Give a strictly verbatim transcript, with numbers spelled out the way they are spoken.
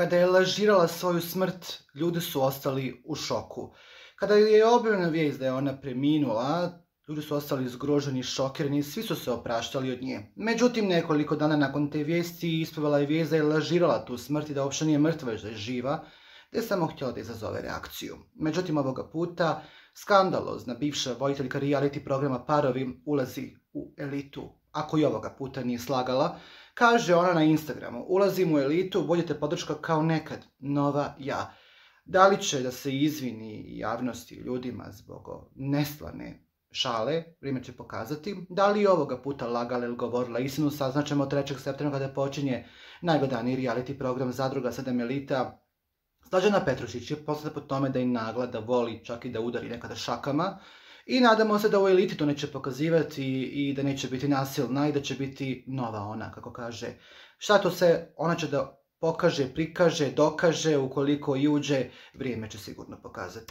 Kada je lažirala svoju smrt, ljudi su ostali u šoku. Kada je objavljena vijest da je ona preminula, ljudi su ostali zgroženi, šokirani i svi su se opraštali od nje. Međutim, nekoliko dana nakon te vijesti isplivela je vijest da je lažirala tu smrt i da uopće nije mrtva, već da je živa, te je samo htjela da izazove reakciju. Međutim, ovoga puta skandalozna bivša voditeljka reality programa Parovi ulazi u elitu. Ako i ovoga puta nije slagala, kaže ona na Instagramu: ulazim u elitu, budite podrška kao nekad, nova ja. Da li će da se izvini javnosti ljudima zbog nestvarne šale, vrijeme će pokazati. Da li je ovoga puta lagala ili govorila istinu, saznaćemo trećeg septembra kada počinje najgledaniji reality program Zadruga sedam elita. Slađana Petrušić je poznata po tome da je nagla, da voli čak i da udari nekada šakama. I nadamo se da u eliti to neće pokazivati i da neće biti nasilna i da će biti nova ona, kako kaže. Šta to se, ona će da pokaže, prikaže, dokaže, ukoliko i uđe, vrijeme će sigurno pokazati.